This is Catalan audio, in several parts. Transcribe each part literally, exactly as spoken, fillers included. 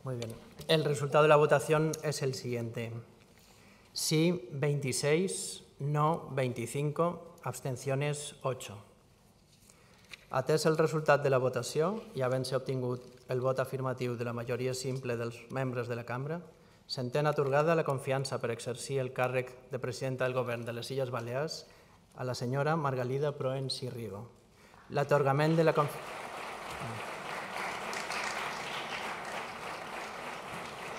Muy bien. El resultado de la votación es el siguiente. Sí, veintiséis, no, veinticinco, abstenciones, ocho. Atès el resultat de la votació i havent-se obtingut el vot afirmatiu de la majoria simple dels membres de la cambra, s'entén atorgada la confiança per exercir el càrrec de presidenta del Govern de les Illes Balears a la senyora Margalida Proens i Rigo. L'atorgament de la confiança...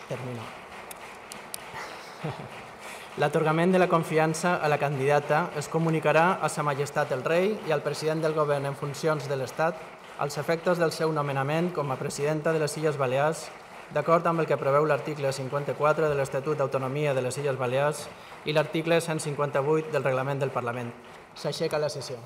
Termino. L'atorgament de la confiança a la candidata es comunicarà a Sa Majestat el Rei i al president del Govern en funcions de l'Estat als efectes del seu nomenament com a presidenta de les Illes Balears, d'acord amb el que preveu l'article cinquanta-quatre de l'Estatut d'Autonomia de les Illes Balears i l'article cent cinquanta-vuit del Reglament del Parlament. S'aixeca la sessió.